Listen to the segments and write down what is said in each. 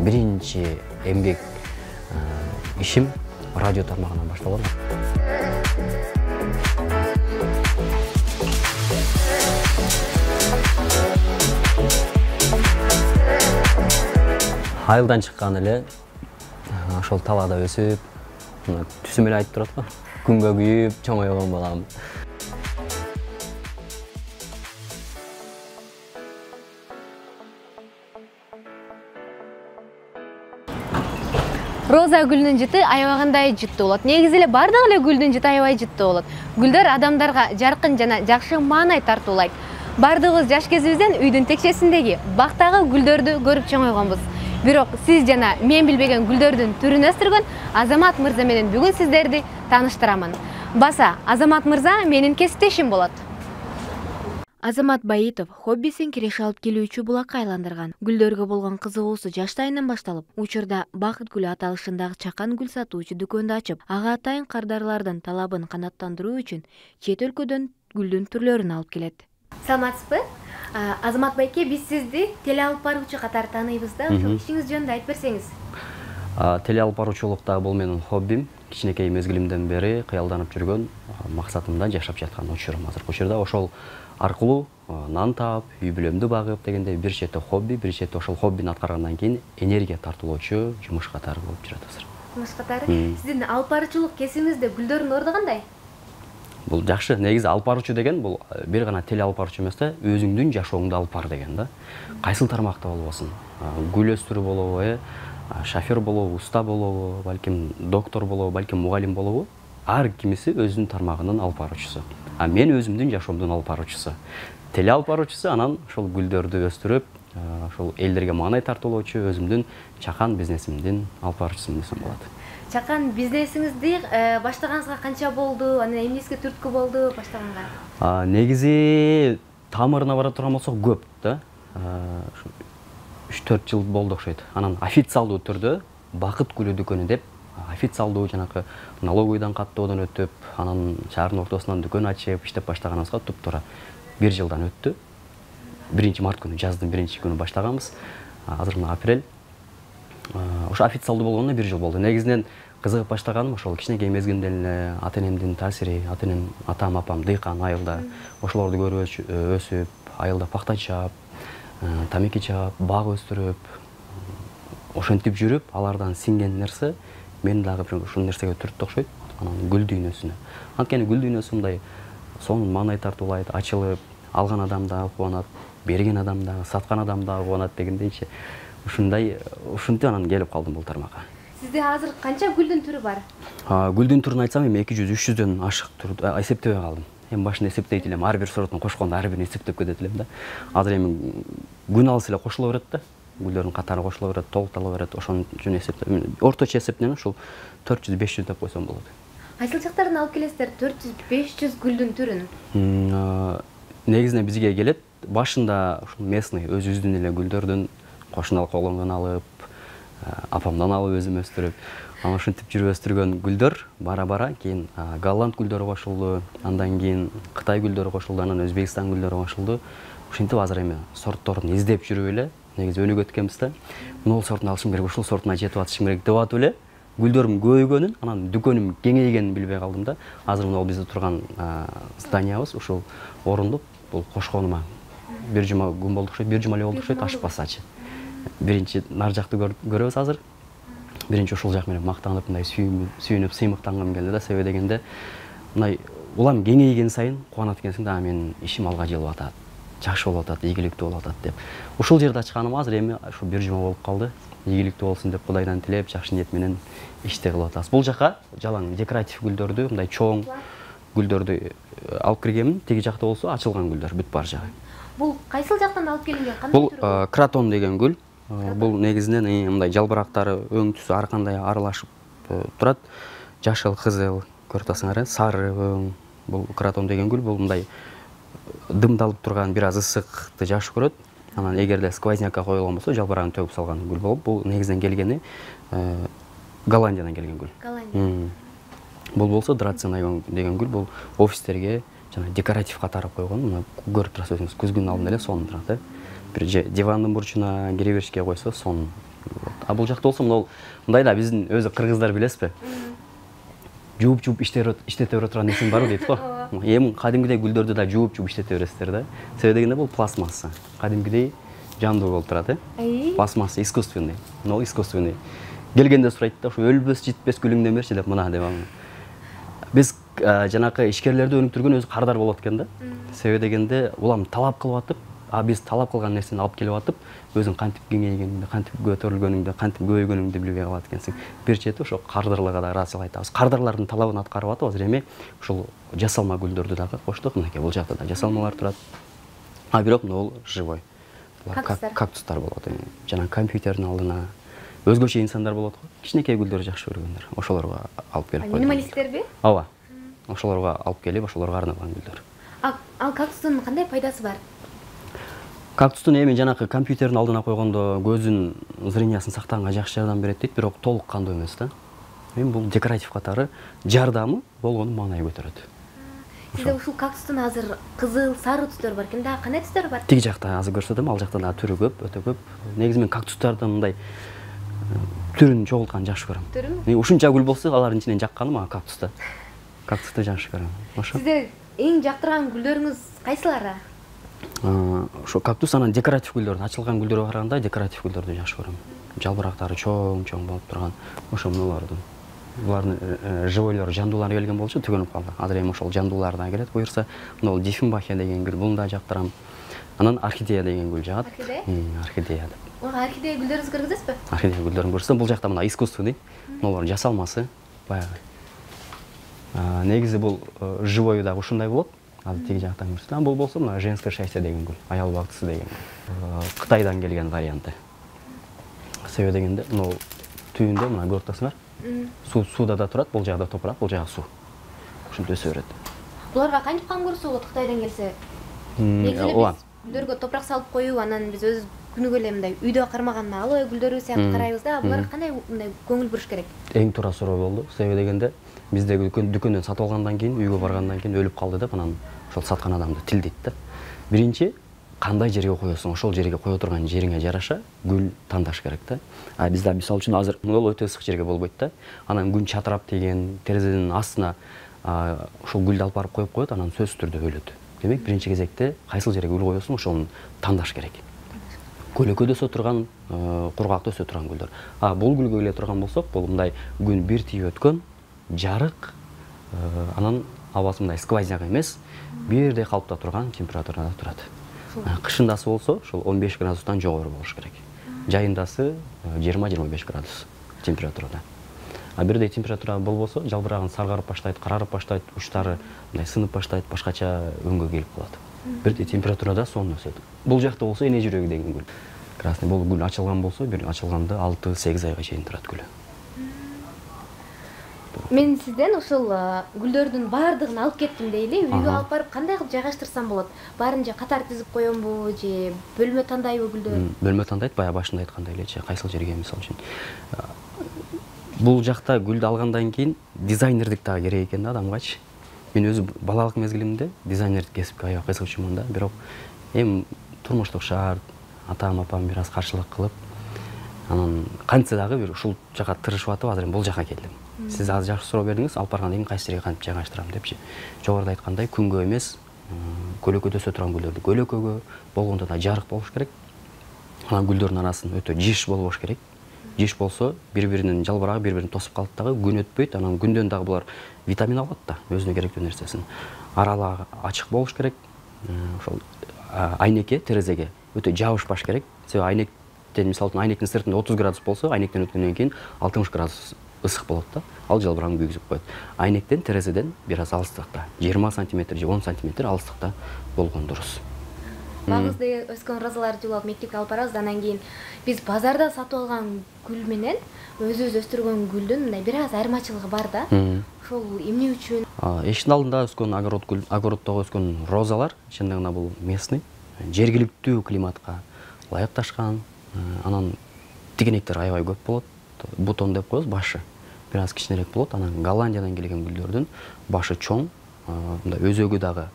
биринчи эмгек ишим радио тармагынан башталган. Айылдан чыккан эле ошол талаада өсүп, түсүм эле айтып турат го. Күнгө күйүп, чоңойгон балам. Роза гүлүнүн жыты аябагандай жыттуу болот. Негизи эле бардык эле гүлдүн жыты аябай жыттуу болот. Гүлдөр адамдарга жаркын жана жакшы маанай тартуулайт. Бардыгыбыз жаш кезибизден үйдүн текчесиндеги бактагы гүлдөрдү көрүп чоңойгонбуз. Бирок сиз жана мен билбеген гүлдөрдүн түрүн өстүргөн Азамат мырза менен бүгүн сиздерди тааныштырамын. Баса, Азамат мырза менин кесиптешим болот. Азамат Баитов хоббисин киреше алып келүүчү булакка айландырган. Гүлдөргө болгон кызыгуусу жаштайынан башталып, учурда Бакыт гүлү аталышындагы чакан гүл сатуучу дүкөндү ачып, ага атайын кардарлардын талабын канааттандыруу үчүн чет өлкөдөн гүлдүн түрлөрүн алып келет. Саламатсызбы? Азамат байке, биз сизди теле алып баруучу катары тааныйбыз да, ошол ишиңиз жөнүндө айтып берсеңиз. Теле алып баруучулукта бул менин хоббим. Кичинекей мезгилимден бери кыялданып жүргөн, максатымда жашап жаткан учурум азыркы учурда. Ошол аркылуу нан таап, үй бүлөмдү багып дегенде бир четте хобби, бир четте ошол хоббини аткаргандан кийин энергия тартуулоочу жумуш катары болуп жүрөт азыр. Жумуш катары? Сиздин алып баруучулук кесибиңизде гүлдөрдүн орду кандай? Бул жакшы. Негизи алып баруучу деген бул бир гана теле алып баруучу эмес да, өзүңдүн жашооңду алып бар деген да. Кайсыл тармакта болбосун. Гүл өстүрүү болобу, шофер болобу, уста болобу, балким доктор болобу, балким мугалим болобу, ар кимиси өзүнүн тармагынын алып баруучусу. Мен өзүмдүн жашоомдун алып баруучусу. Теле алып баруучусу анан ошол гүлдөрдү өстүрүп, ошол элдерге маанай тартуулоочу өзүмдүн чакан бизнесимдин алып баруучусу десем болот. Чакан бизнесиңизди баштаганыңызга канча болду? Анан эмнеге түрткү болду баштаганга? Негизи тамырына бара турган болсок көп да. 3-4 жыл болду окшойт. Анан официалдуу түрдө Бакыт гүлү дүкөнү деп официалдуу жанакы налоговыйдан каттоодон өтүп, анан шаардын ортосунан дүкөн ачып, иштеп баштаганыбызга туптуура 1 жылдан өттү. 1-март күнү, жаздын 1-күнү баштаганбыз. Азыр мына апрель. Ошо официалдуу болгонуна 1 жыл болду. Негизинен кызыгып баштаганым ошол кичинекей мезгилимден эле ата-энемдин таасири, ата-энем, атам, апам дыйкан айылда. Ошолорду көрүп өсүп, айылда пакта чаап, тамеки чаап, бак өстүрүп, ошентип жүрүп, алардан сиңген нерсе мени дагы ушул нерсеге түрттү окшойт. Анан гүл дүйнөсүнө. Анткени гүл дүйнөсү мындай сонун маанай тартуулайт, ачылып, алган адам дагы кубанат, берген адам дагы, саткан адам дагы кубанат дегендейчи. Ушинтип анан келип калдым бул тармакка. Сизде азыр канча гүлдүн түрү бар? Гүлдүн түрүн айтсам, эми 200-300дөн ашык түрдү эсептебей калдым. Эми башында эсептейт элем, ар бир сортун кошкондо ар бирин эсептеп кетет элем да. Азыр эми күн алыс эле кошуло берет да. Гүлдөрдүн катары кошуло берет, толуктала берет. Ошон үчүн эсептеп, орточо эсеп менен ушул 400-500 деп койсом болот. Кайсыл жактардан алып келесиздер 400-500 гүлдүн түрүн? Негизинен бизге келет. Башында ушул местный өзүбүздүн эле гүлдөрдүн кошуналык болгондон алып, апамдан алып өзүм өстүрүп, анан ошентип жүрүп өстүргөн гүлдөр бара-бара кийин голланд гүлдөрү кошулду, андан кийин Кытай гүлдөрү кошулду, анан Өзбекстан гүлдөрү кошулду. Ошентип азыр эми сортторун издеп жүрүп эле, негизи өнүгүп өткөнбүз да. Мына сортун алышым керек, ушул сортуна жетип атышым керек деп атып эле гүлдөрүм көбөйгөнүн, анан дүкөнүм кеңейгенин билбей калдым да. Азыр мына бизде турган зданиябыз ушул орундук, бул кошконума 1 жума күн болду окшойт, 1 жума эле болду окшойт, ашпасачы. Биринчи нар жакты көрөбүз азыр. Биринчи ушул жак менен мактанып, мындай сүйүнүп, сыймыктангым келди да. Себеби дегенде, мындай улам кеңейген сайын кубанат экенсиң да, менин ишим алга жылып атат, жакшы болуп атат, ийгиликтүү болуп атат деп. Ушул жерде ачканым азыр эми ушу 1 жума болуп калды. Ийгиликтүү болсун деп Кудайдан тилеп, жакшы ниет менен ишти кылып атабыз. Бул жака жалаң декоратив гүлдөрдү, мындай чоң гүлдөрдү алып киргенмин. Теги жакта болсо ачылган гүлдөр бүт бар жагы. Бул кайсыл жактан алып келинген? Кандай түрү? Бул кратон деген гүл. Бул негизинен мындай жалбырактары өң түсү ар кандай аралашып турат. Жашыл, кызыл, көрүп атасыңар, сары өң. Бул кратон деген гүл, бул мындай дымдалып турган, бир аз ысыкты жакшы көрөт. Анан эгерде сквознякка коюлган болсо, жалбырагын төгүп салган гүл болуп, бул негизинен келгени Голландиядан келген гүл. Голландия. Бул болсо драцена деген гүл, бул офистерге жана декоратив катары койгон. Мына көрүп турасыз өзүңүз, күзгүнүн алдында эле сонун турат, бир дивандын бурчуна кире беришке койсо сонун. А бул жакта болсо мындай да биздин өзү кыргыздар билесизби? Жууп иштете бере турган нерсең барбы дейт го. Эми кадимгидей гүлдөрдү да жууп иштете бересиздер да. Себеби дегенде бул пластмасса. Кадимгидей жандуу болуп турат, пластмасса искусственный. Но искусственный. Келгенде сурайт да, ушу өлбөс, житпес гүлүңдөн берчи деп мына деп. Биз жанакы ишкерлерди өнүктүргөн өзү кардар болот экен да. Себеби дегенде улам талап кылып атып, биз талап кылган нерсени алып келип атып, өзүң кантип кеңейгениңди, кантип көтөрүлгөнүңдү, кантип көбөйгөнүңдү билбей калат экенсиң. Бир чети ошо кардарларга да ыраазычылык айтабыз. Кардарлардын талабын аткарып атабыз. Эми ушул жасалма гүлдөрдү дагы коштук. Мынакей бул жакта да жасалмалар турат. Бирок бул живой. Кактустар болот. Жана компьютердин алдына өзгөчө инсандар болот го. Кичинекей гүлдөрдү жакшы көргөндөр. Ошолорго алып келип койдум. Минималисттерби? Ооба. Ошолорго алып келип, ошолорго арналган гүлдөр. Ал кактустун кандай пайдасы бар? Кактустун эми жанакы компьютердин алдына койгондо көздүн зрениясын сактаганга жакшы жардам берет дейт, бирок толук кандуу эмес да. Эми бул декоратив катары жардамы болгону маанай көтөрөт. Сизде ушул кактустун азыр кызыл, сары түстөрү бар экен да, кандай түстөр бар? Тиги жакта азыр көрсөтөм, ал жакта дагы түрү көп, өтө көп. Негизи мен кактустардын мындай түрүн чогултканды жакшы көрөм. Түрүнү? Ушунча гүл болсо, алардын ичинен жакканы мага кактуста. Кактусту жакшы көрөм. Ошо. Сизде эң жактырган гүлдөрүңүз кайсылары? Ошо кактус анан декоратив гүлдөрдү, ачылган гүлдөргө караганда декоратив гүлдөрдү жакшы көрөм. Жалбырактары чоң болуп турган. Ошо мунулардын. Булардын живойлору, жандуулары келген болчу, түгөнүп калды. Азыр эми ошол жандуулар да келет буюрса. Мына Диффенбахия деген гүл, буну да жактырам. Анан орхидея деген гүл жагат. Орхидея деп. Орхидея гүлдөрүңүзгө көргүзөсүзбү? Орхидея гүлдөрүн көрсөтөм. Бул жакта мына искусственный. Мунулардын жасалмасы баягы. Негизи бул живой да ушундай болот. Азыр тиги жактан көрсөтөм. Бул болсо мына женское счастье деген гүл, аял бактысы деген гүл. Кытайдан келген варианты. Себеби дегенде, мына түбүндө мына көрүп атасыңар. Сууда да турат, бул жагда топурак, бул жагы суу. Ушинтип өсө берет. Буларга кантип кам көрсө болот Кытайдан келсе? Негизи биз гүлдөргө топурак салып коюп, анан биз өз күнүгө эле мындай үйдө кармаган алоэ гүлдөрү сыяктуу карайбыз да. Буларга кандай мындай көңүл буруш керек? Эң туура суроо болду. Себеби дегенде, бизде дүкөндөн сатып алгандан кийин, үйгө баргандан кийин өлүп калды деп, анан ошол саткан адамды тилдейт да. Биринчи, кандай жерге коесуң, ошол жерге кое турган жериңе жараша гүл тандаш керек да. Бизде мисалы үчүн азыр могул өтө ысык жерге болбойт да. Анан күн чатырап деген терезенин астына ошол гүлдү алып барып коюп коет, анан сөзсүз түрдө өлөт. Демек, биринчи кезекте кайсыл жерге гүл коесуң, ошону тандаш керек. Көлөкөдө өсө турган, кургакта өсө турган гүлдөр. Бул гүлгө келе турган болсок, бул мындай күн бир тийип өткөн, жарык, анан абасы мындай сквозняк эмес, бирдей калыпта турган температурада турат. Кышындасы болсо, ошол 15 градустан жогору болуш керек. Жайындасы 20-25 градус температурада. Бирдей температура болбосо, жалбырагын саргарып баштайт, карарып баштайт, учтары мындай сынып баштайт, башкача өңгө келип калат. Бирдей температурада сонун өсөт. Бул жакта болсо эне жүрөгү деген гүл. Красный бул гүл ачылган болсо, бир ачылганда 6-8 айга чейин турат гүлү. Мен сизден ушул гүлдөрдүн баардыгын алып кеттим дейли, үйгө алып барып кандай кылып жайгаштырсам болот? Баарын же катар тизип коембу, же бөлмө тандайбы гүлдөр? Бөлмө тандайт, баягы башында айткандай элечи, кайсыл жерге мисалы үчүн. Бул жакта гүлдү алгандан кийин дизайнердик дагы керек экен да адамгачы. Мен өзү балалык мезгилимде дизайнердик кесипке аябай кызыгчумун да, бирок эми турмуштук шарт, атам, апам бир аз каршылык кылып, анан кантсе дагы бир ушул жака тырышып атып, азыр эми бул жака келдим. Сиз азыр жакшы суроо бердиңиз, алып баргандан кийин кайсы жерге кантип жайгаштырам депчи. Жогоруда айткандай, күнгө эмес, көлөкөдө өсө турган гүлдөрдү көлөкөгө, болгондо да жарык болуш керек. Анан гүлдөрдүн арасын өтө жиш болбош керек. Жиш болсо, бири-биринин жалбырагы бири-бирин тосуп калат дагы, күн өтпөйт, анан күндөн дагы булар витамин алат да, өзүнө керектүү нерсесин. Аралыгы ачык болуш керек. Ошол айнекке, терезеге өтө жабышпаш керек. Себеби айнектен, мисалы үчүн айнектин сыртында 30 градус болсо, айнектен өткөндөн кийин 60 градус ысык болот да. Ал жалбырагын күйгүзүп коет. Айнектен, терезеден бир аз алыстыкта, 20 см же 10 см алыстыкта болгон дурус. Багызда өскөн розаларды жуулап мектепке алып барабыз, анан кийин биз базарда сатып алган гүл менен өзүбүз өстүргөн гүлдүн мындай бир аз айырмачылыгы бар да. Ошол эмне үчүн? Эшиктин алдында өскөн огороддогу өскөн розалар, чындыгында гана бул местный, жергиликтүү климатка ылайыкташкан. Анан тигенектер аябай көп болот. Бутон деп коебуз, башы бир аз кичинерээк болот. Анан Голландиядан келген гүлдөрдүн башы чоң, мындай өзөгү дагы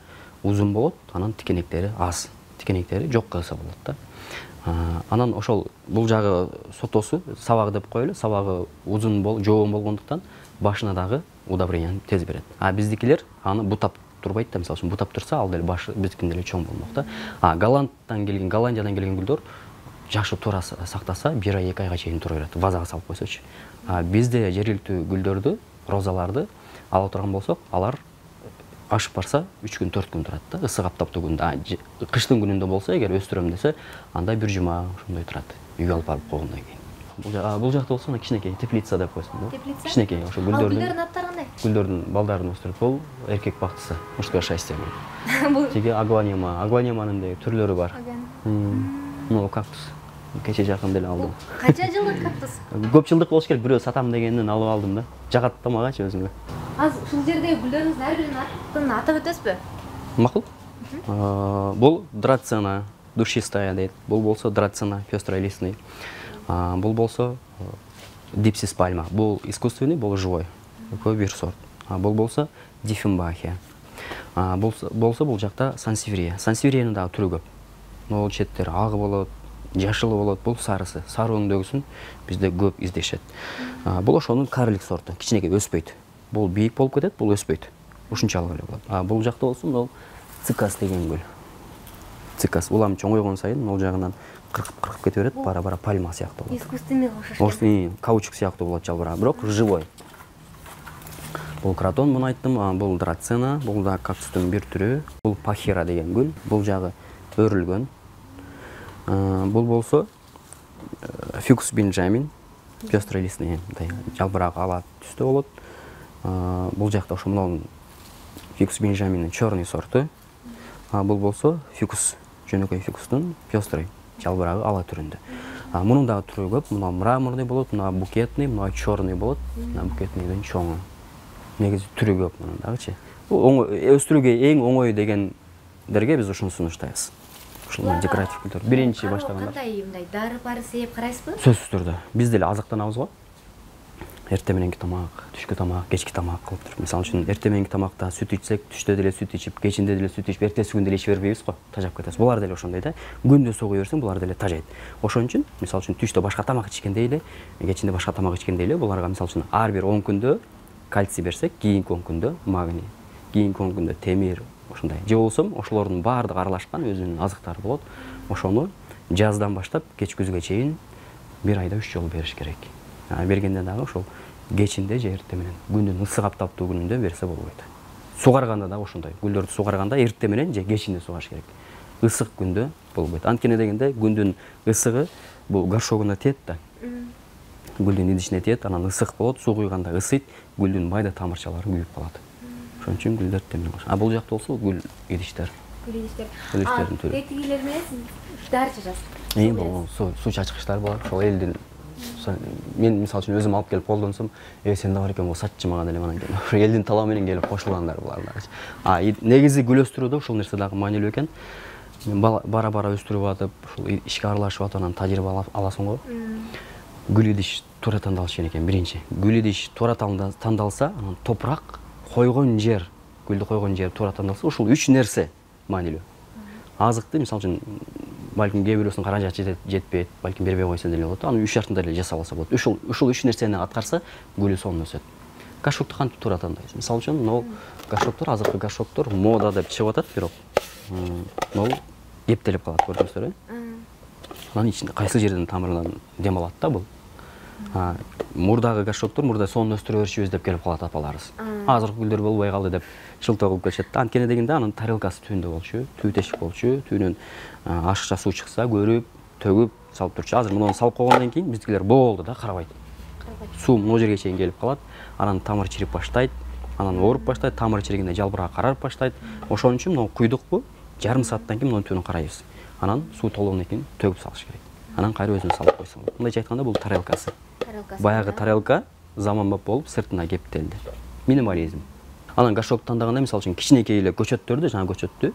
узун болот, анан тикенектери аз, тикенектери жок кылса болот да. Анан ошол бул жагы сотосу, сабагы деп коелу, сабагы узун жоон болгондуктан башына дагы удобренияны тез берет. Биздикилер аны бутап турбайт да, мисалы үчүн бутап турса, ал деле башы биздикиндей эле чоң болмок да. Голландиядан келген гүлдөр жакшы туура сактаса, 1 ай 2 айга чейин тура берет, вазага салып койсочу. Бизде жергиликтүү гүлдөрдү, розаларды ала турган болсок, алар ашып барса 3 күн 4 күн турат да, ысык аптаптуу күндө. Кыштын күнүндө болсо, эгер өстүрөм десе, анда 1 жума ошондой турат. Үйгө алып барып койгондон кийин. Бул жакта болсо, кичинекей теплица деп койсун да. Теплица? Кичинекей, ошо гүлдөрдүн аттары кандай? Гүлдөрдүн балдарын өстүрөт. Бул эркек бактысы, мужское счастье. Тиги аглонеманын деги түрлөрү бар. Могу кактус. Кече жакын деле алдым. Канча жылдык кактус? Көп жылдык болуш керек, бирөө сатам дегенден алып алдым да. Жагат да магачы өзүмө. Азыр ушул жердеги гүлдөрүңүздүн ар биринин атын атап өтөсүзбү? Макул. Бул драцена душистая дейт. Бул болсо драцена пестролистный. Бул болсо дипсис пальма. Бул искусственный, бул живой. Экөө бир сорт. Бул болсо диффенбахия. Болсо бул жакта сансеврия. Сансевриянын дагы түрү көп. Могул четтери агы болот, жашылы болот, бул сарысы. Сары өңдөгүсүн бизде көп издешет. Бул ошонун карлик сорту, кичинекей өспөйт. Бул бийик болуп кетет, бул өспөйт. Ушунчалык эле болот. Бул жакта болсо, бул цикас деген гүл. Цикас. Улам чоңойгон сайын могул жагынан кыркып кете берет, бара-бара пальма сыяктуу болот. Искусственный окшош. Каучук сыяктуу болот жалбырагы, бирок живой. Бул кратон, муну айттым, бул драцена, бул да кактустун бир түрү. Бул пахира деген гүл, бул жагы өрүлгөн. Бул болсо фикус бенджамин, пестролистный, жалбырагы ала түстө болот. Бул жакта ошо мунун фикус бенджаминдин черный сорту. Бул болсо фикус, жөнөкөй фикустун пестрый, жалбырагы ала түрүндө. Мунун дагы түрү көп, муну мраморный болот, муну букетный, муну черный болот, букетныйден чоңу. Негизи түрү көп мунун дагычы. Өстүрүүгө эң оңой дегендерге биз ушуну сунуштайбыз. Ушул декоратив гүлдөр. Биринчи баштаганда. Кандай мындай дары-бары сээп карайсызбы? Сөзсүз түрдө. Биз деле азыктанабыз го. Эртең мененки тамак, түшкү тамак, кечки тамак кылып туруп. Мисалы үчүн эртең мененки тамакта сүт ичсек, түштө деле сүт ичип, кечинде деле сүт ичип, эртеси күн деле иче бербейбиз го. Тажап кетебиз. Булар деле ошондой да. Күндө согуй берсең, булар деле тажайт. Ошон үчүн, мисалы үчүн түштө башка тамак ичкендей эле, кечинде башка тамак ичкендей эле, буларга мисалы үчүн ар бир 10 күндө кальций берсек, кийинки 10 күндө магний, кийинки 10 күндө темир, ошондой. Же болсо ошолордун баардыгы аралашкан өзүнүн азыктары болот. Ошону жаздан баштап кеч күзгө чейин 1 айда 3 жолу бериш керек. Бергенде дагы ошол кечинде же эртең менен, күндүн ысык аптаптуу күнүндө берсе болбойт. Сугарганда да ошондой. Гүлдөрдү сугарганда эртең менен же кечинде сугарыш керек. Ысык күндө болбойт. Анткени дегенде күндүн ысыгы бул горшогуна тиет да. Гүлдүн идишине тиет, анан ысык болот, суу куйганда ысыйт, гүлдүн майда тамырчалары күйүп калат. Ошон үчүн гүлдөр темир болот. Бул жакта болсо гүл идиштер. Гүлдөрдүн түрү. Тетигилер менен дары чачасыз. Суу чачкычтар бар. Ошол элдин мен мисалы үчүн өзүм алып келип колдонсом, сен да бар экен, сатчы мага деле анан кийин. Ошо элдин талабы менен келип кошулгандар булар дагы. Негизи гүл өстүрүүдө ушул нерсе дагы маанилүү экен. Бара-бара өстүрүп атып, ушул ишке аралашып атып, анан тажрыйба аласың го. Гүл идиш туура тандалыш керек экен биринчи. Гүл идиш туура тандалса, анан топурак, койгон жер, гүлдү койгон жер туура тандалса, ушул 3 нерсе маанилүү. Азыкты, мисалы үчүн, балким кээ бирөөсүнүн каражаты жетпейт, балким бербей койсо деле болот. Аны 3 шартында эле жасалса болот. Ушул 3 нерсени аткарса, гүлү сонун өсөт. Горшокту кантип туура тандайбыз? Мисалы үчүн, могул горшоктор, азыркы горшоктор мода деп чыгып атат, бирок могул эптелип калат, көрдүңүздөр, анан ичинде кайсы жерден тамырынан дем алат да бул. Мурдагы горшоктор мурда сонун өстүрө берчүбүз деп келип калат апаларыбыз. Азыркы гүлдөр болбой калды деп шылтоо кылып келишет. Анткени дегенде анын тарелкасы түбүндө болчу, түү тешик болчу, түүнөн ашыкча суу чыкса, көрүп, төгүп салып турчу. Азыр муну салып койгондон кийин биздикилер болду да, карабайт. Суу могу жерге чейин келип калат, анан тамыр чирип баштайт, анан ооруп баштайт, тамыр чиригенде жалбырак карарып баштайт. Ошон үчүн муну куйдукпу, жарым сааттан кийин мунун түбүн карайбыз. Анан суу толгондон кийин төгүп салыш керек. Анан кайра өзүн салып койсоң болот. Мындайча айтканда бул тарелкасы. Баягы тарелка заманбап болуп сыртына кептелди. Минимализм. Анан горшок тандаганда мисалы үчүн кичинекей эле көчөттөрдү, жана көчөттү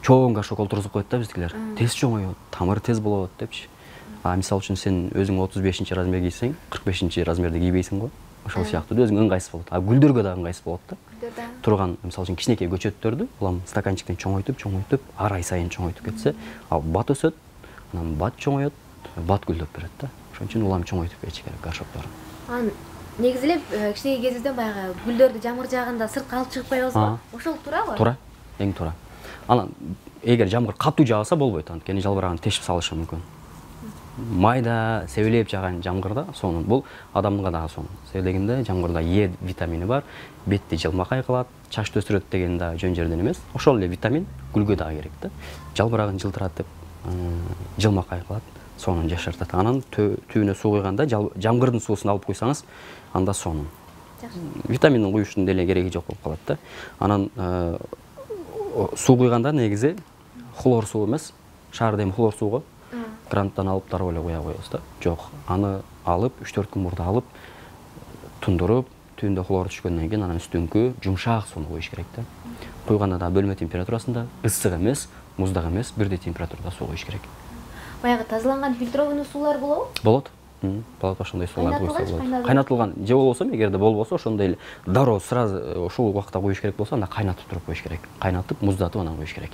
чоң горшок олтургузуп коет да биздикилер. Тез чоңоет, тамыр тез болот депчи. Мисалы үчүн сен өзүң 35-размер кийсең, 45-размерди кийбейсиң го. Ошол сыяктуу өзүң ыңгайсыз болот. Гүлдөргө да ыңгайсыз болот да. турган мисалы үчүн кичинекей көчөттөрдү улам стаканчиктен чоңойтуп ар ай сайын чоңойтуп кетсе, ал бат өсөт, анан бат чоңоет, бат гүлдөп берет да. Ошон үчүн улам чоңойтуп кетиш керек горшокторун. Анан негизи эле кичинекей кезибизден баягы гүлдөрдү жамгыр жаагында сыртка алып чыгып коебузбу? Ошол туурабы? Туура, эң туура. Анан эгер жамгыр катуу жааса болбойт, анткени жалбыраган тешип салышы мүмкүн. Майда себелеп жааган жамгырда сонун. Бул адамга дагы сонун. Себеби дегенде жамгырда Е витамини бар, бетти жылмакай кылат, чачты өстүрөт деген да жөн жерден эмес. Ошол эле витамин гүлгө дагы керек да. Жалбырагын жылтыратып, жылмакай кылат, сонун жашартат. Анан түбүнө суу куйганда жамгырдын суусун алып куйсаңыз, анда сонун. Витаминдин куюштун деле кереги жок болуп калат да. Анан суу куйганда негизи хлор суу эмес, шаар дем хлор сууго кранттан алып дароо эле куя коебуз да. Жок, аны алып 3-4 күн мурда алып тундуруп, түбүндө хлор түшкөндөн кийин анан үстүңкү жумшак сууну коюш керек да. Куйганда да бөлмө температурасында, ысык эмес, муздак эмес, бирдей температурада суу коюш керек. Баягы тазаланган фильтрованный суулар болобу? Болот. Болот, ошондой суулар куйса болот. Кайнатылган же болбосо, эгерде болбосо, ошондой эле дароо сразу ошол убакта коюш керек болсо, анда кайнатып туруп коюш керек. Кайнатып, муздатып анан коюш керек.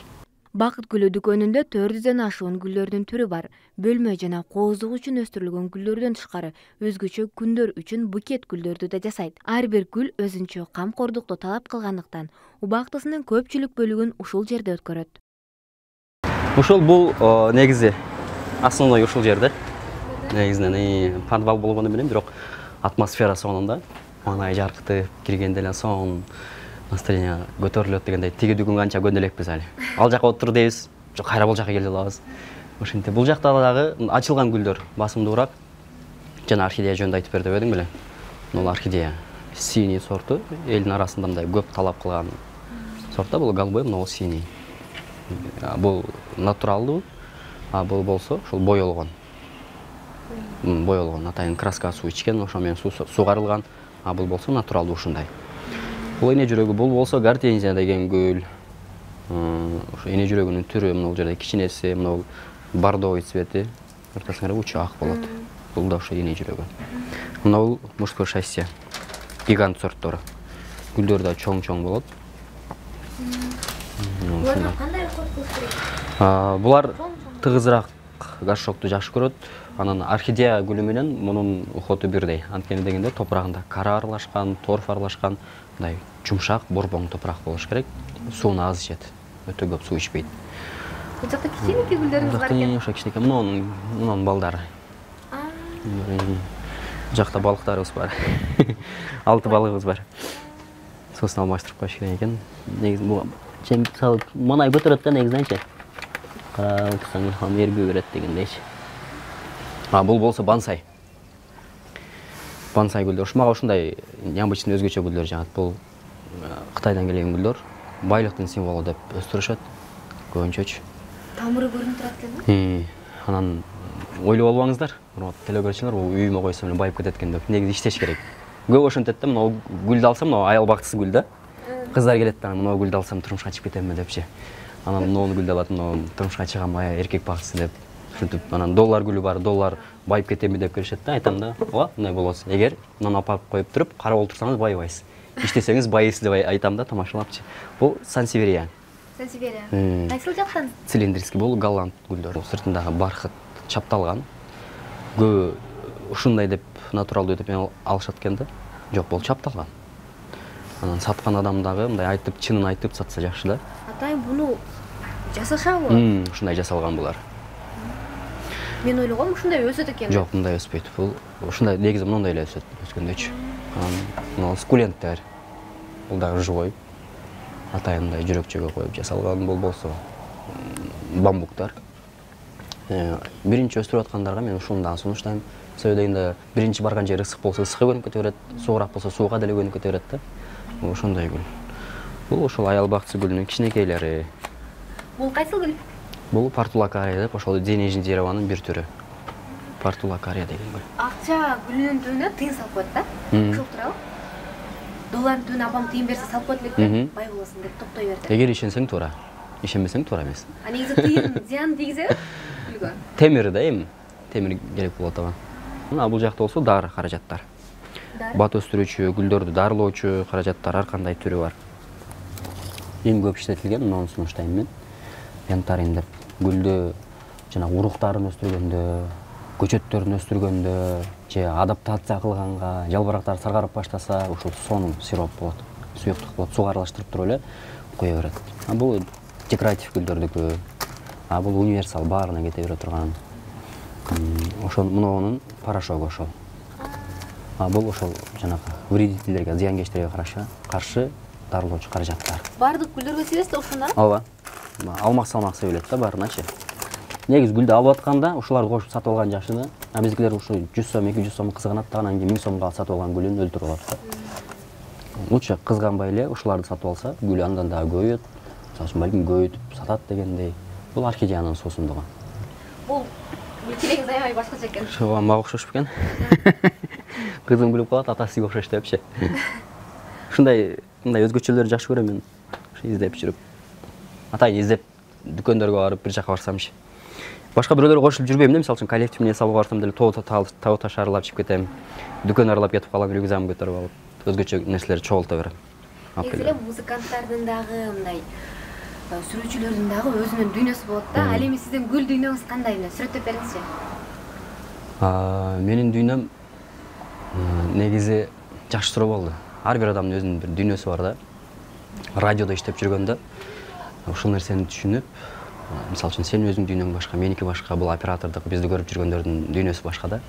Бакыт гүлү дүкөнүндө 400ден ашуун гүлдөрдүн түрү бар. Бөлмө жана кооздук үчүн өстүрүлгөн гүлдөрдөн тышкары өзгөчө күндөр үчүн букет гүлдөрдү да жасайт. Ар бир гүл өзүнчө камкордукту талап кылгандыктан убактысынын көпчүлүк бөлүгүн ушул жерде өткөрөт. Ушул бул негизи основной ушул жерде. Негизинен подвал болгону менен бирок атмосфера сонун да. Маңай жаркытып киргенде эле сонун настроение көтөрүлөт дегендей. Тиги дүкөнгө канча көндөлекпиз али. Ал жака отур дейбиз, кайра бул жака келип алабыз. Ошентип бул жакта дагы ачылган гүлдөр басымдуураак. Жана орхидея жөнүндө айтып бер деп эдиң беле. Бул орхидея синий сорту, элдин арасында мындай көп талап кылган сорт да. Бул голубой, но синий. Бул натуралдуу, а бул болсо ушул боелгон. Боелгон, атайын краска суу ичкен, ошо менен сугарылган, а бул болсо натуралдуу ушундай. Бул эне жүрөгү, бул болсо гортензия деген гүл. Ошо эне жүрөгүнүн түрү, мына бул жерде кичинеси, мына бул бордовый цвети, ортосуна учу ак болот. Бул да ошо эне жүрөгү. Мына бул мужское счастье, гигант сорттор. Гүлдөр да чоң-чоң болот. Буларга кандай уход кылыш керек? Булар тыгызыраак горшокту жакшы көрөт. Анан орхидея гүлү менен мунун уходу бирдей. Анткени дегенде топурагында кара аралашкан, торф аралашкан, мындай жумшак, борбоң топурак болуш керек. Сууну аз ичет. Өтө көп суу ичпейт. Бул жакта кичинекей гүлдөрүңүз бар экен. Ошо кичинекей, мунун балдары. Бул жакта балыктарыбыз бар. 6 балыгыбыз бар. Суусун алмаштырып коюш керек экен. Негизи бул салып манай көтөрөт да негизиненчи. Карап отурсаң хам эргүү берет дегендейчи. Бул болсо бонсай. Бонсай гүлдөр. Мага ушундай необычный өзгөчө гүлдөр жагат. Бул Кытайдан келген гүлдөр. Байлыктын символу деп өстүрүшөт. Көбүнчөчү. Тамыры көрүнүп турат экен. Анан ойлоп албаңыздар. Телекөрүүчүлөр бул үйүмө койсом эле байып кетет экен деп. Негизи иштеш керек. Көп ошентет да, мына гүлдү алсам, мына аял бактысы гүл да. Кыздар келет да, мына гүлдү алсам турмушка чыгып кетемби депчи. Анан мына гүлдү алат, мына турмушка чыгам, эркек бактысы деп. Ушинтип анан доллар гүлү бар, доллар байып кетемби деп келишет да. Айтам да, ооба, мындай болосу. Эгер мынаны апарып коюп туруп, карап олтурсаңыз байыбайсыз. Иштесеңиз байыйсыз деп айтам да, тамашалапчы. Бул сансеверия. Сансеверия. Кайсыл жактан? Цилиндрский, бул голланд гүлдөр. Сыртындагы бархыт чапталган. Көбү ушундай деп натуралдуу деп алышат экен да. Жок, бул чапталган. Анан саткан адам дагы мындай айтып, чынын айтып сатса жакшы да. Атайын буну жасашабы? Ушундай жасалган булар. Мен ойлогом ушундай өсөт экен. Жок, мындай өспөйт. Бул ушундай негизи мындай эле өсөт, өскөндөчү. Анан мына скуленттер. Бул дагы живой. Атайын мындай жүрөкчөгө коюп жасалган, бул болсо бамбуктар. Биринчи өстүрүп аткандарга мен ушуну дагы сунуштайм. Себеби дегенде биринчи барган жери ысык болсо ысыкка көнүп кете берет, суураак болсо сууга деле көнүп кете берет да. Бул ошондой гүл. Бул ошол аял бактысы гүлүнүн кичинекейлери. Бул кайсыл гүл? Бул портулакария деп, ошол денежный дереванын бир түрү. Портулакария деген гүл. Акча гүлүнүн түбүнө тыйын салып коет да. Ошол турабы? Доллардын түбүнө апам тыйын берсе салып коет экен, бай болосуң деп токтой берди. Эгер ишенсең туура, ишенбесең туура эмес. Негизи тыйын зыян тийгизеби гүлгө? Темир да эми, темир керек болот ага. Бул жакта болсо дары каражаттар. Бат өстүрүүчү, гүлдөрдү дарылоочу каражаттар ар кандай түрү бар. эң көп иштетилген, муну сунуштайм мен. Янтарин деп гүлдү жана уруктарын өстүргөндө, көчөттөрүн өстүргөндө же адаптация кылганга, жалбырактар саргарып баштаса, ушул сонун сироп болот, суюктук болот, суга аралаштырып туруп эле кое берет. Бул декоратив гүлдөрдүкү, бул универсал, баарына кете бере турган. Ошол мунун порошогу ошол. Бул ошол жанагы вредительдерге, зыянкечтерге каршы дарылоочу каражаттар. Бардык гүлдөргө себесте ошондо? Ооба. Алмак салмак себилет да баарыначы. Негизи гүлдү алып атканда ушуларды кошуп сатып алган жакшы да. Биздикилер ушу 100 сом, 200 сом кызганат да, анан кийин 1000 сомго сатып алган гүлүн өлтүрүп алат да. Лучше кызганбай эле ушуларды сатып алса, гүлү андан дагы көбөйөт. Мисалы үчүн балким көбөйтүп сатат дегендей. Бул орхидеянын суусундугу. Бул тилегиңиз аябай башкача экен. Ошого мага окшош бекен. Кызым күлүп калат, атасы сизге окшош депчи. Мындай өзгөчөлөрдү жакшы көрөм мен. Ошо издеп жүрүп. Атайын издеп дүкөндөргө барып бир жака барсамчы. Башка бирөөлөргө кошулуп жүрбөйм да, мисалы үчүн коллектив менен сабылга барсам деле тоо таш аралап чыгып кетем. Дүкөн аралап кетип калам, рюкзагымды көтөрүп алып, өзгөчө нерселерди чогулта берем. Негизи музыканттардын дагы мындай сүрөтчүлөрдүн дагы өзүнүн дүйнөсү болот да. Ал эми сиздин гүл дүйнөңүз кандай? Сүрөттөп бериңизчи. Менин дүйнөм негизи жакшы суроо болду. Ар бир адамдын өзүнүн бир дүйнөсү бар да. Радиодо иштеп жүргөндө ушул нерсени түшүнүп, мисалы үчүн сенин өзүңдүн дүйнөң башка, меники башка, бул оператордук бизди көрүп жүргөндөрдүн дүйнөсү башка да.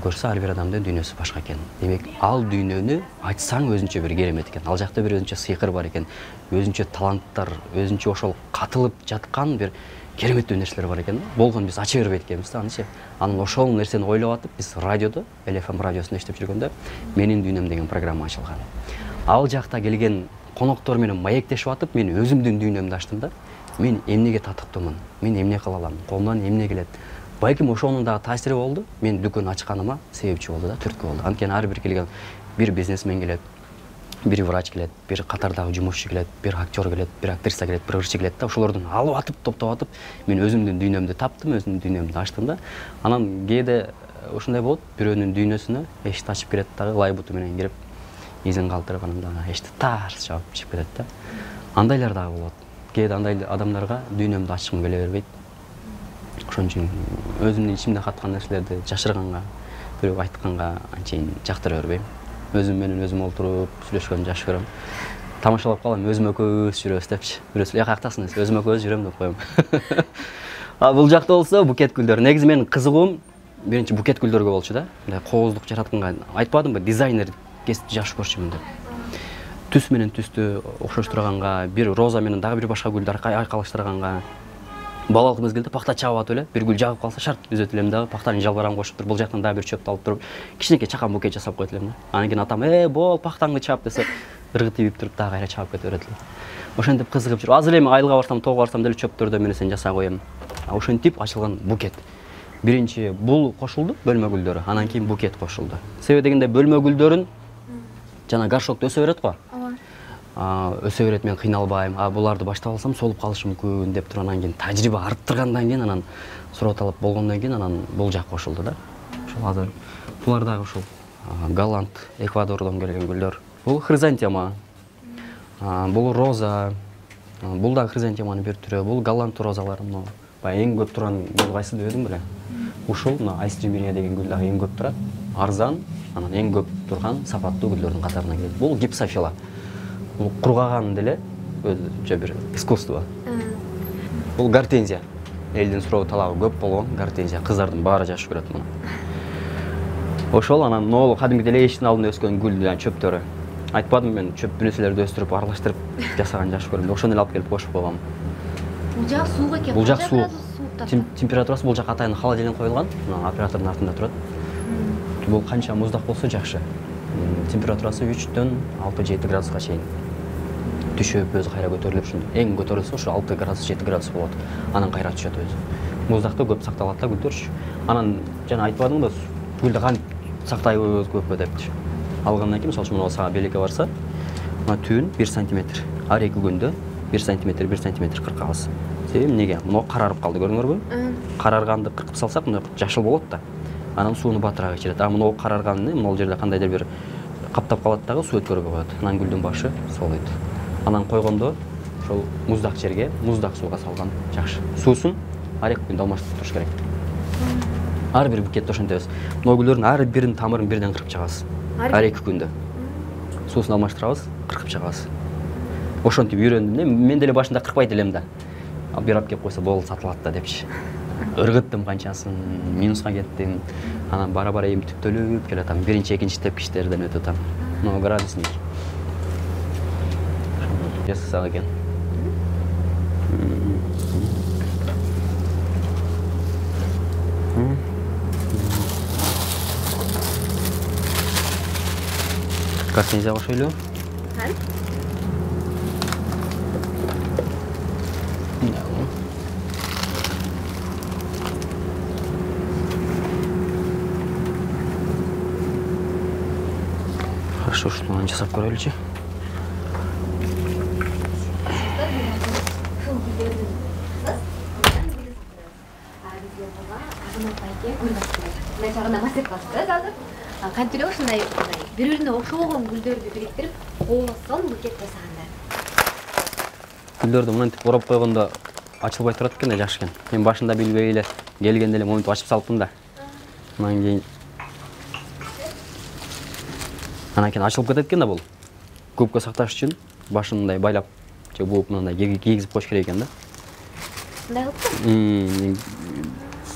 Көрсө ар бир адамдын дүйнөсү башка экен. Демек, ал дүйнөнү айтсаң өзүнчө бир керемет экен. Ал жакта бир өзүнчө сыйкыр бар экен. Өзүнчө таланттар, өзүнчө ошол катылып жаткан бир кереметтүү нерселер бар экен. Болгон биз ача бербейт экенбиз да, анычы. Анан ошол нерсени ойлоп атып, биз радиодо, LFM радиосунда иштеп жүргөндө Менин дүйнөм деген программа ачылган. Ал жакта келген коноктор менен маектешип атып, мен өзүмдүн дүйнөмдү ачтым да. Мен эмнеге татыктуумун? Мен эмне кыла алам? Колумдан эмне келет? Балким ошонун дагы таасири болду. Мен дүкөн ачканыма себепчи болду да, түрткү болду. Анткени ар бир келген бир бизнесмен келет, бир врач келет, бир катардагы жумушчу келет, бир актер келет, бир актриса келет, бир ырчы келет да. Ошолордун алып атып, топтоп атып, мен өзүмдүн дүйнөмдү таптым, өзүмдүн дүйнөмдү ачтым да. Анан кээде ушундай болот, бирөөнүн дүйнөсүнө эшикти ачып кирет дагы лайбуту менен кирип, изин калтырып, анан дагы эшикти тарс жаап чыгып кетет да. Андайлар дагы болот. Кээде андай адамдарга дүйнөмдү ачкым келе бербейт. Ошон үчүн өзүмдүн ичимде каткан нерселерди жашырганга, бирөөгө айтканга анчейин жактыра бербейм. Өзүм менен өзүм олтуруп сүйлөшкөндү жакшы көрөм. Тамашалап калам, өзүм экөөбүз жүрөбүз депчи. Бирөөсү каяктасыңыз, өзүм экөөбүз жүрөм деп коем. Бул жакта болсо букет гүлдөр. Негизи менин кызыгуум биринчи букет гүлдөргө болчу да. Мындай кооздук жаратканга айтпадымбы, дизайнер кесипти жакшы көрчүмүн деп. Түс менен түстү окшоштурганга, бир роза менен дагы бир башка гүлдү айкалыштырганга. Балалык мезгилде пахта чабып атып эле, бир гүл жагып калса шарт үзөт элем дагы, пахтанын жалбырагын кошуп туруп, бул жактан дагы бир чөптү алып туруп, кичинекей чакан букет жасап коет элем да. Анан кийин атам, бол, пахтаңды чап десе, ыргыты ийип туруп дагы кайра чабып кете берет элем. Ошентип кызыгып жүрүп, азыр эми айылга барсам, тоого барсам деле чөптөрдөн бир нерсени жасап коем. Ошентип ачылган букет. Биринчи бул кошулду, бөлмө гүлдөрү, анан кийин букет кошулду. Себеби дегенде бөлмө гүлдөрүн жана горшокто өсө берет го. Өсө берет, мен кыйналбайм. Буларды баштап алсам солуп калышы мүмкүн деп туруп, анан кийин тажрыйба арттыргандан кийин, анан сурап алып болгондон кийин, анан бул жак кошулду да. Ошол азыр булар дагы ушул Голланд, Эквадордон келген гүлдөр. Бул хризантема. Бул роза. Бул дагы хризантеманын бир түрү. Бул Голланд розалары. Баягы эң көп турган гүл кайсы дебедим беле? Ушул айстриминия деген гүл дагы эң көп турат. Арзан, анан эң көп турган сапаттуу гүлдөрдүн катарына кирет. Бул гипсофила. Бул кургаган деле өзүнчө бир искусство. Бул гортензия. Элдин суроо талабы көп болгон гортензия. Кыздардын баары жакшы көрөт муну. Ошол анан нолу кадимки деле эшиктин алдында өскөн гүл жана чөптөрү. Айтпадым мен чөп нерселерди өстүрүп, аралаштырып жасаган жакшы көрөм. Ошону эле алып келип кошуп койгом. Бул жак суук экен. Бул жак суук. Температурасы бул жак атайын холодильник коюлган. Оператордун артында турат. Бул канча муздак болсо жакшы. Температурасы 3-төн 6-7 градуска чейин түшүп, өзү кайра көтөрүлүп, эң көтөрүлсө ошо 6 градус, 7 градус болот. Анан кайра түшөт өзү. Муздакта көп сакталат да гүлдөрчү. Анан жана айтпадыңбы, гүлдү кантип сактайбыз көпкө депчи. Алгандан кийин, мисалы үчүн мына сага белекке барса, мына түбүн 1 сантиметр. Ар 2 күндө 1 сантиметр кыркабыз. Себеби эмнеге? Мына карарып калды, көрдүңөрбү? Карарганды кыркып салсак, мына жашыл болот да. Анан сууну батыраак ичирет. Мына карарганды, мына жерде кандайдыр бир каптап калат дагы, суу өткөрбөй коет. Анан гүлдүн башы солойт. Анан койгондо ошол муздак жерге муздак сууга салган жакшы. Суусун ар 2 күндө алмаштырып туруш керек. Ар бир букетти ошентебиз. Могу гүлдөрдүн ар биринин тамырын бирден кыркып чыгабыз. Ар 2 күндө. Суусун алмаштырабыз, кыркып чыгабыз. Ошентип үйрөндүм. Мен деле башында кыркпайт элем да. Бир ап кеп койсо болду, сатылат да депчи. Ыргыттым канчасын, минуска кеттим. Анан бара-бара эми түптөлүп келатам. Биринчи, экинчи тепкичтерден өтүп атам. Мына градусник. Жасасак экен. Касыңызга кошойлу. Хорошо, ушуну жасап көрөлүчү. Кантип эле ушундай бири-бирине окшогон гүлдөрдү бириктирип, коолоссон букет жасаганда. Гүлдөрдү мынтип ороп койгондо ачылбай турат экен да, жакшы экен. Мен башында билбей эле келгенде эле монтип ачып салыптым да. Анан кийин ачылып кетет экен да бул. Көпкө сакташ үчүн башын мындай байлап, же бууп мындай кийгизип коюш керек экен да. Мындай кылып?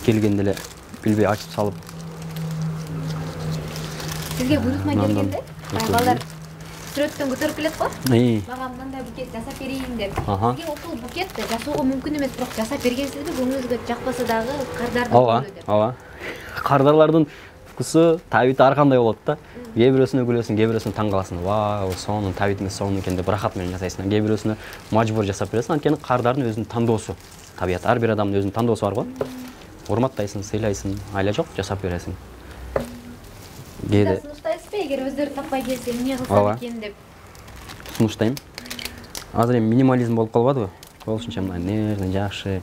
Келгенде эле билбей ачып салып. Сизге буйрутма келгенде, балдар сүрөттөн көтөрүп келет го? Мага мындай букет жасап берейин деп. Сизге ошол букетти жасоого мүмкүн эмес, бирок жасап бергенсизби? Көңүлүңүзгө жакпаса дагы кардардын вкусу деп. Ооба. Кардарлардын вкусу, табити ар кандай болот да. Кээ бирөөсүнө күлөсүң, кээ бирөөсүнө таң каласың. Вау, сонун табитиңиз сонун экен деп рахат менен жасайсың. Кээ бирөөсүнө мажбур жасап бересиң. Анткени кардардын өзүнүн тандоосу. Табият ар бир адамдын өзүнүн тандоосу бар го. Урматтайсың, сыйлайсың, айла жок жасап бересиң. Кээде сунуштайсызбы, эгер өздөрү таппай келсе, эмне кылсам экен деп? Сунуштайм. Азыр эми минимализм болуп калбадыбы? Болушунча мындай нежный, жакшы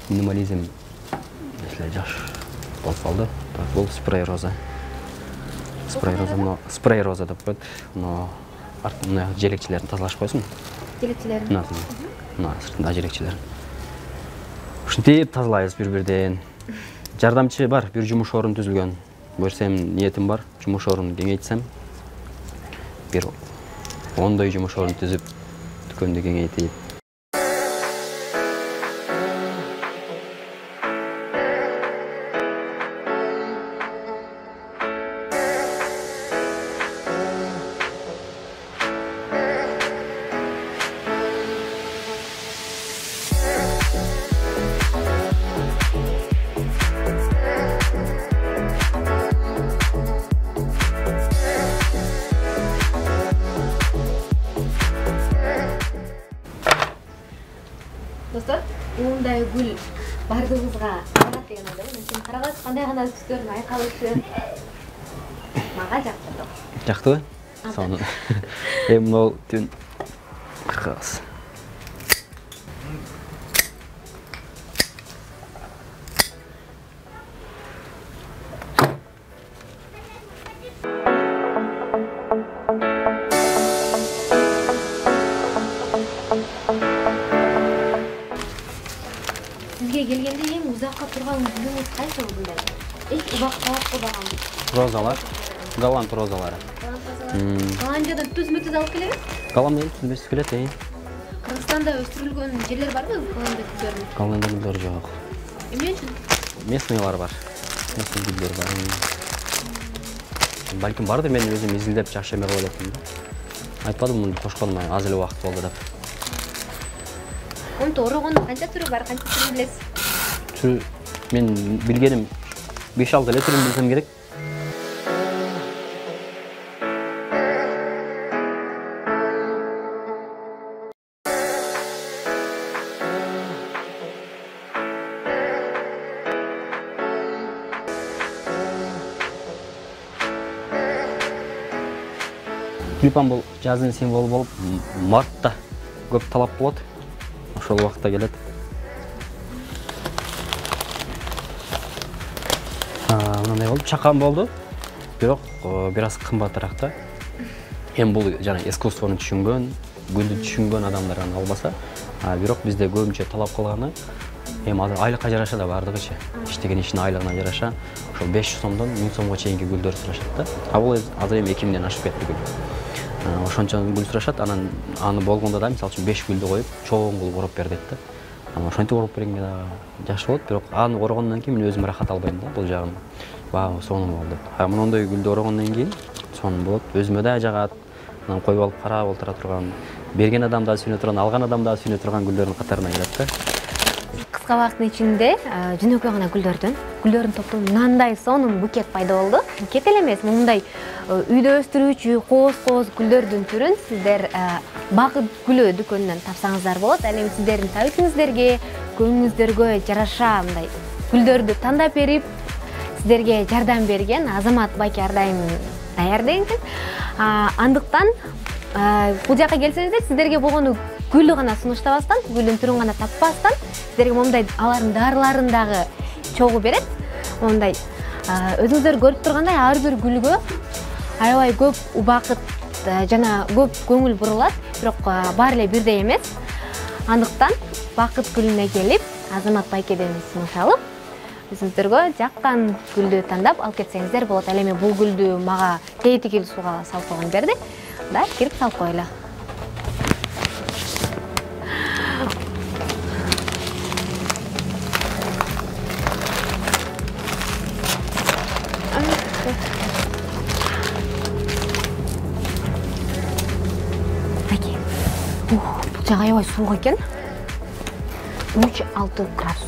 минимализм эле жакшы болуп калды. Так, бул спрей роза. Спрей роза деп коет. Мына желекчилерин тазалашып койсуң. Желекчилерин? Мына сыртында желекчилерин. Ушинтип тазалайбыз бир-бирден. Жардамчы бар, бир жумуш орун түзүлгөн. Көрсем ниетим бар, жумуш орунун кеңейтсем. Бир 10 жумуш орун түзүп, дүкөндү кеңейтип. Достор, мындай гүл бардыгыбызга карат деген ойдомун. Мен сени карагачы кандай гана түстөрүн айкалышы мага жакты. Жактыбы? Сонун. Эми могу түн кыркабыз. Сизге келгенде эң узакка турган гүлүңүз кайсы мындай? Эч убак талапка багам. Розалар, голланд розалары. Голландиядан түз-мүтүз алып келеби? Голландиядан түз-мүтүз келет, Кыргызстанда өстүрүлгөн жерлер барбы голландия гүлдөрүнүн? Голландия гүлдөрү жок. Эмне үчүн? Местныйлар бар. Местный гүлдөр бар. Балким барды, мен өзүм изилдеп жакшы эме кылып электим да. Айтпадым муну кошконыма аз эле убакыт болду деп. Онто орогондун канча түрү бар, канча түрүн билесиз? Түрү мен билгеним 5-6 эле түрүн билсем керек. Тюльпан бул жаздын символу болуп, мартта көп талап болот. Ошол убакытта келет. Мындай болуп, чакан болду. Бирок бир аз кымбатыраак да. Эми бул жана искусствону түшүнгөн, гүлдү түшүнгөн адамдар гана албаса, Бирок бизде көбүнчө талап кылганы эми азыр айлыкка жараша да бардыгычы. Иштеген ишинин айлыгына жараша ошол 500 сомдон 1000 сомго чейинки гүлдөр сурашат да. Бул азыр эми 2000ден ашып кетти гүл. Ошончо гүл сурашат, анан аны болгондо да мисалы үчүн 5 гүлдү коюп, чоң кылып ороп бер дейт да. Ошентип ороп бергенге да жакшы болот, бирок аны орогондон кийин мен өзүм ырахат албайм да, бул жагын. Вау, сонун болду. Мындай гүлдү орогондон кийин сонун болот. Өзүмө да жагат. Анан коюп алып карап олтура турган, берген адам да сүйүнө турган, алган адам да сүйүнө турган гүлдөрдүн катарына кирет да. Кыска убакыттын ичинде жөнөкөй гана гүлдөрдүн топтун мындай сонун букет пайда болду. Букет эле эмес, мындай үйдө өстүрүүчү кооз гүлдөрдүн түрүн сиздер Бакыт гүлү дүкөнүнөн тапсаңыздар болот. Ал эми сиздердин табитиңиздерге, көңүлүңүздөргө жараша мындай гүлдөрдү тандап берип, сиздерге жардам берген Азамат байке ар дайым даярдайт экен. Андыктан бул жака келсеңиздер, сиздерге болгону гүлү гана сунуштабастан, гүлдүн түрүн гана таппастан, сиздерге момундай алардын дарыларын дагы чогуу берет. Момундай өзүңүздөр көрүп тургандай ар бир гүлгө аябай көп убакыт жана көп көңүл бурулат, бирок баары эле бирдей эмес. Андыктан Бакыт гүлүнө келип, Азамат байкеден сунуш алып, өзүңүздөргө жаккан гүлдү тандап алып кетсеңиздер болот. Ал эми бул гүлдү мага тегитигил сууга салып койгон берди. Да, кирип салып коелу. Бул жак аябай суук экен. 3-6 градус.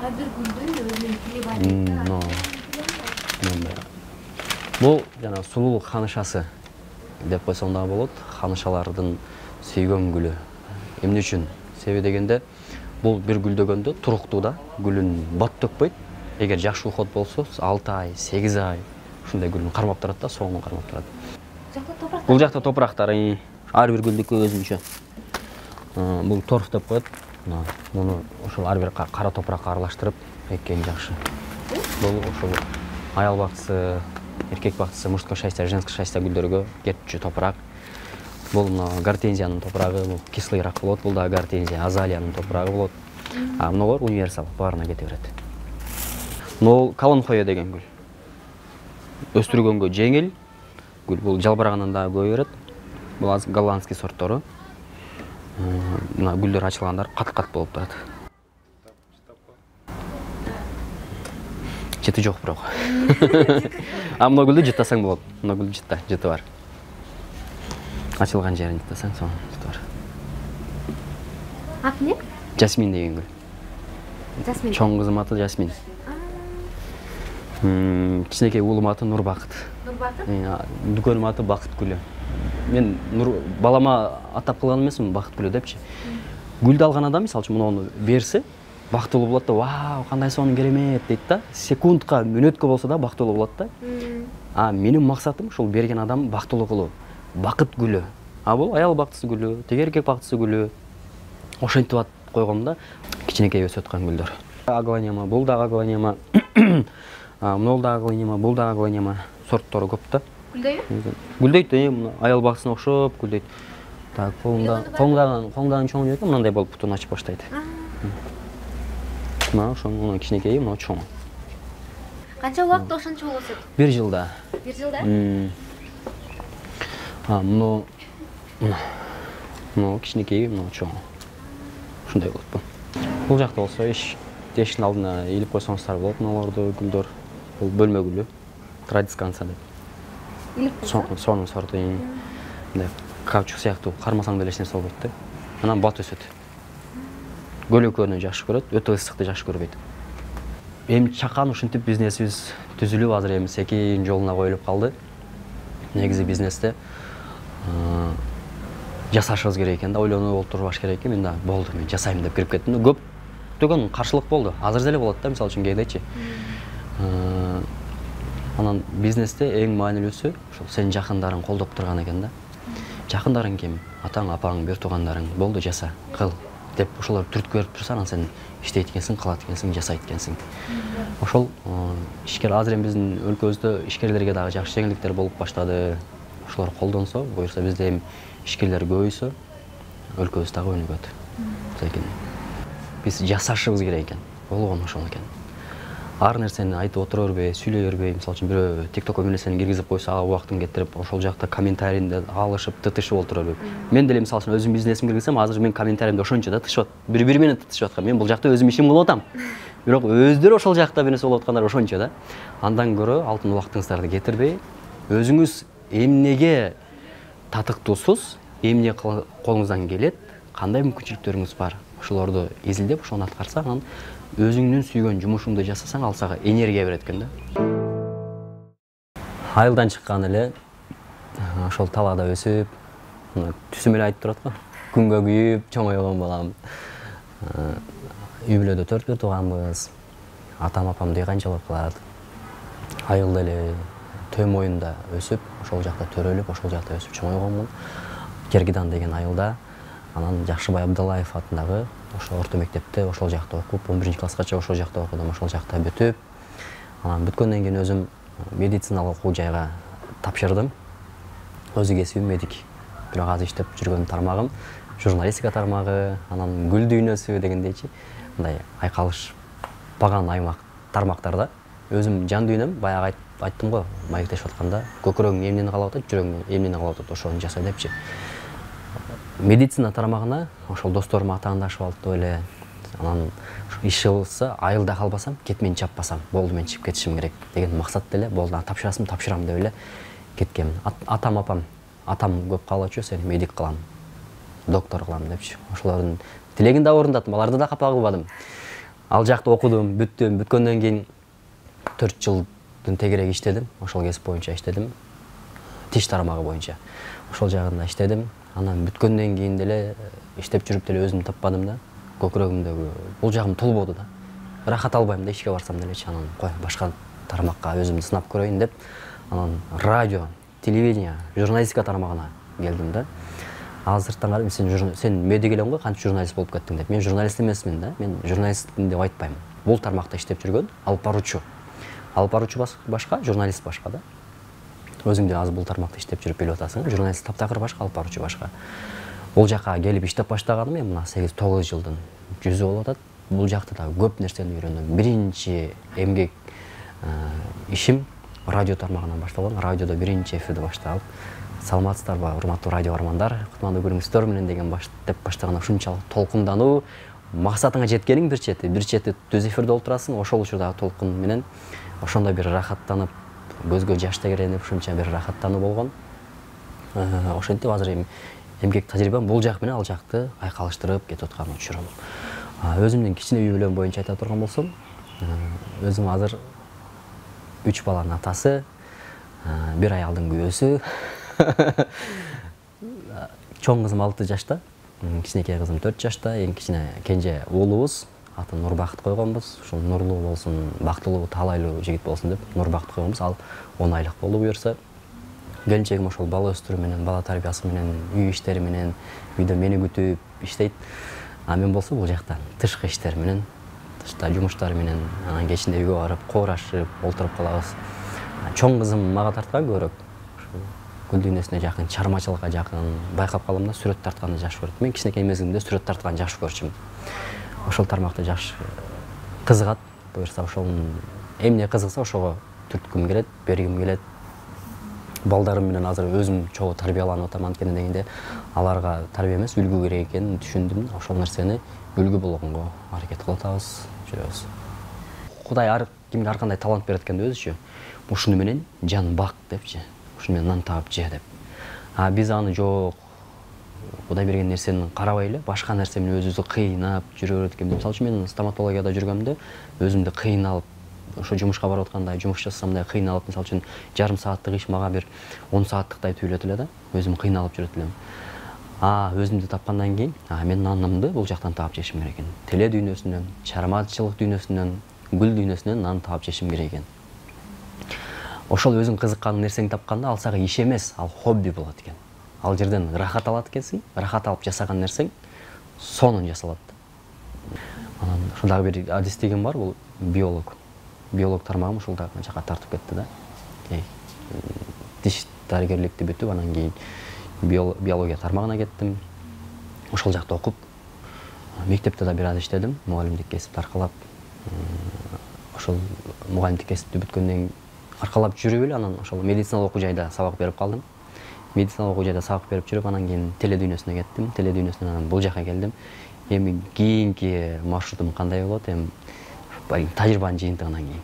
Ар бир гүлдүн өзүнүн тили бар. Бул жана сулуулук ханышасы деп койсом да болот. Ханышалардын сүйгөн гүлү. Эмне үчүн? Себеби дегенде, бул бир гүлдөгөндө туруктуу да, гүлүн бат төкпөйт. Эгер жакшы уход болсо, 6 ай, 8 ай ушундай гүлүн кармап турат да, соңун кармап турат. Бул жакта топурактары ар бир гүлдүккө өзүнчө. Бул торф деп коет. Муну ошол ар бир кара топуракка аралаштырып эккен жакшы. Бул ошол аял бактысы, эркек бактысы, мужской счастье, женский счастье гүлдөргө кетчү топурак. Бул гортензиянын топурагы, бул кислыйраак болот. Бул да гортензия, азалиянын топурагы болот. Мыналар универсал, баарына кете берет. Бул калонхоя деген гүл. Өстүргөнгө жеңил гүл. Бул жалбырагынан да көбөй берет. Бул голландский сорттору. Мына гүлдөр ачылгандар кат-кат болуп турат. Жыты жок бирок. Мына гүлдү жыттасаң болот. Мына гүлдү жыты бар. Ачылган жерин жыттасаң, сонун жыты бар. Аты эмне? Жасмин деген гүл. Жасмин. Чоң кызым аты Жасмин. Кичинекей уулум аты Нурбакыт. Нурбакыт? Дүкөнүм аты Бакыт гүлү. Мен балама атап кылган эмесмин Бакыт гүлү депчи. Гүлдү алган адам мисалы үчүн муну берсе, бактылуу болот да, вау, кандай сонун керемет дейт да. Секундка, мүнөткө болсо да бактылуу болот да. Менин максатым ушул берген адам бактылуу кылуу. Бакыт гүлү. Бул аял бактысы гүлү, теге эркек бактысы гүлү. Ошентип ат койгом да. Кичинекей өсүп аткан гүлдөр. Аглонема, бул да аглонема. Мынол да аглонема, бул да аглонема. Сорттору көп да. Гүлдөйбү? Гүлдөйт, аял бактысына окшоп гүлдөйт. Так, коңдаган чоң экен, мындай болуп бутун ачып баштайт. Мына ошонун кичинекейи, мына чоң. Канча убакытта ошончо болот? 1 жылда. 1 жылда? Мына кичинекейи, мына чоң. Ушундай болот бул. Бул жакта болсо эшиктин алдына илип койсоңуздар болот, мыналарды гүлдөр. Бул бөлмө гүлү. Традисканса деп. Илип койсо? Сонун сорту. Мындай каучук сыяктуу кармасаң деле эч нерсе болбойт да. Анан бат өсөт. Көлөкөнү жакшы көрөт, өтө ысыкты жакшы көрбөйт. Эми чакан ушинтип бизнесибиз түзүлүп, азыр эми секин жолуна коюлуп калды. Негизи бизнесте жасашыбыз керек экен да, ойлонуп олтурбаш керек экен. Мен да болду, мен жасайм деп кирип кеттим. Көптөгөн каршылык болду. Азыр деле болот да, мисалы үчүн кээдечи. Анан бизнесте эң маанилүүсү ошол сенин жакындарың колдоп турган экен да. Жакындарың ким? Атаң, апаң, бир туугандарың. Болду, жаса, кыл деп ошолор түрткү берип турса, анан сен иштейт экенсиң, кылат экенсиң, жасайт экенсиң. Ошол ишкер азыр эми биздин өлкөбүздө ишкерлерге дагы жакшы жеңилдиктер болуп баштады. Ошолор колдонсо, буюрса бизде эми ишкерлер көбөйсө, өлкөбүз дагы өнүгөт. Лейкин биз жасашыбыз керек экен. Болгон ошол экен. Ар нерсени айтып отура бербей, сүйлөй бербей, мисалы үчүн бирөө TikTokко бир нерсени киргизип койсо, ага убактын кетирип, ошол жакта комментарийинде алышып, тытышып отура бербей. Мен деле мисалы үчүн өзүм бизнесимди киргизсем, азыр мен комментариимде ошончо да тытышып, бири менен тытышып аткан. Мен бул жакта өзүм ишим кылып атам. Бирок өздөрү ошол жакта бир нерсе болуп аткандар ошончо да. Андан көрө алтын убактыңыздарды кетирбей, өзүңүз эмнеге татыктуусуз, эмне колуңуздан келет, кандай мүмкүнчүлүктөрүңүз бар, ошолорду изилдеп, ошону аткарсаң, анан өзүңдүн сүйгөн жумушуңду жасасаң, ал сага энергия берет экен да. Айылдан чыккан эле ошол талаада өсүп, түсүм эле айтып турат го. Күнгө күйүп чоңойгон балам. Үй бүлөдө 4 тууганбыз. Атам апам дей канчалык кылат. Айылда эле Төө моюнда өсүп, ошол жакта төрөлүп, ошол жакта өсүп чоңойгонмун. Кергидан деген айылда. Анан Жакшыбай Абдалаев атындагы ошо орто мектепте ошол жакта окуп, 11-класскача ошол жакта окудум, ошол жакта бүтүп, анан бүткөндөн кийин өзүм медициналык окуу жайга тапшырдым. Өзү кесибим медик. Бирок азыр иштеп жүргөн тармагым журналистика тармагы, анан гүл дүйнөсү дегендейчи, мындай айкалышпаган аймак тармактарда өзүм жан дүйнөм баягы айттым го, маектешип атканда, көкүрөгүң эмнени каалап атат, жүрөгүң эмнени каалап атат, ошону жаса депчи. Медицина тармагына ошол досторум атаандашып алып эле, анан иш кылса, айылда калбасам, кетмени чаппасам, болду мен чыгып кетишим керек деген максат деле, болду тапшырасым, тапшырам деп эле кеткенмин. Атам апам, атам көп каалачу, сени медик кылам, доктор кылам депчи. Ошолордун тилегин да орундадым, аларды да капа кылбадым. Ал жакта окудум, бүттүм, бүткөндөн кийин 4 жылдын тегерек иштедим, ошол кесип боюнча иштедим. Тиш тармагы боюнча. Ошол жагында иштедим. Анан бүткөндөн кийин деле иштеп жүрүп деле өзүм таппадым да. Көкүрөгүмдөгү бул жагым толбоду да. Рахат албайм да ишке барсам делечи. Анан кой, башка тармакка өзүмдү сынап көрөйүн деп, анан радио, телевидение, журналистика тармагына келдим да. Азыртан карап сен медик элең го, кантип журналист болуп кеттиң деп. Мен журналист эмесмин да. Мен журналистмин деп айтпайм. Бул тармакта иштеп жүргөн алып баруучу. Алып баруучу башка, журналист башка да. Өзүң да азыр бул тармакта иштеп жүрүп билип атасың, журналист таптакыр башка, алып баруучу башка. Бул жакка келип иштеп баштаганым мен мына 8-9 жылдын жүзү болуп атат. Бул жакта да көп нерсени үйрөндүм. Биринчи эмгек ишим радио тармагынан башталган. Радиодо биринчи эфирди башталып, саламатсыздарбы, урматтуу радио армандар, кутмандуу күнүңүздөр менен деген деп баштаган ушунчалык толкундануу, максатыңа жеткениң бир чети түз эфирде олтурасың, ошол учурдагы толкун менен ошондо бир рахаттанып, көзгө жаш тегеренип, ушунча бир рахаттануу болгон. Ошентип азыр эмгек тажрыйбам бул жак менен ал жакты айкалыштырып кетип аткан учурум. Өзүмдүн кичине үй бүлөм боюнча айта турган болсом, өзүм азыр 3 баланын атасы, 1 аялдын күйөөсү. Чоң кызым 6 жашта, кичинекей кызым 4 жашта, эң кичине кенже уулубуз, атын Нурбакыт койгонбуз. Ошол нурлуу болсун, бактылуу, таалайлуу жигит болсун деп Нурбакыт койгонбуз. Ал 10 айлык болуп буюрса, келинчегим ошол бала өстүрүү менен, бала тарбиясы менен, үй иштери менен, үйдө мени күтүп иштейт. А мен болсо бул жакта тышкы иштер менен, тышта жумуштар менен, анан кечинде үйгө барып, коорашып, олтуруп калабыз. Чоң кызым мага тарткан көбүрөөк. Гүл дүйнөсүнө жакын, чармачылыкка жакын, байкап калам да, сүрөт тартканды жакшы көрөт. Мен кичинекей мезгилимде сүрөт тартканды жакшы көрчүмүн. Ошол тармакта жакшы кызыгат. Буюрса ошол эмне кызыкса ошого түрткүм келет, бергим келет. Балдарым менен азыр өзүм чогуу тарбияланып атам, анткени дегенде аларга тарбия эмес, үлгү керек экенин түшүндүм. Ошол нерсени үлгү болгонго аракет кылып атабыз, жүрөбүз. Кудай ар кимге ар кандай талант берет экен өзүчө. Ушуну менен жан бак депчи. Ушуну менен нан таап же деп. Биз аны жок, Кудай берген нерсени карабай эле, башка нерсе менен өзүбүздү кыйнап жүрө берет экенбиз. Мисалы үчүн мен стоматологияда жүргөндө өзүмдү кыйналып, ошо жумушка барып атканда жумуш жасасам да кыйналып, мисалы үчүн жарым сааттык иш мага бир 10 сааттыктай түйүлөт эле да. Өзүм кыйналып жүрөт элем. Өзүмдү тапкандан кийин, мен нанымды бул жактан таап жешим керек экен. Теле дүйнөсүнөн, чармачылык дүйнөсүнөн, гүл дүйнөсүнөн нан таап жешим керек экен. Ошол өзүң кызыккан нерсеңди тапканда ал сага иш эмес, ал хобби болот экен. Ал жерден рахат алат экенсиң, рахат алып жасаган нерсең сонун жасалат. Анан ошол дагы бир адистигим бар, бул биолог. Биолог тармагым ушул жакка тартып кетти да. Тиш дарыгерликти бүтүп, анан кийин биология тармагына кеттим. ошол жакта окуп, мектепте да бир аз иштедим, мугалимдик кесипти аркалап. Ошол мугалимдик кесипти бүткөндөн аркалап жүрүп эле анан ошол медициналык окуу жайда сабак берип калдым. Медициналык окуу жайда сабак берип жүрүп, анан кийин теледүйнөсүнө кеттим. Теледүйнөсүнөн анан бул жака келдим. Эми кийинки маршрутум кандай болот? Эми тажрыйбанын жыйынтыгынан кийин.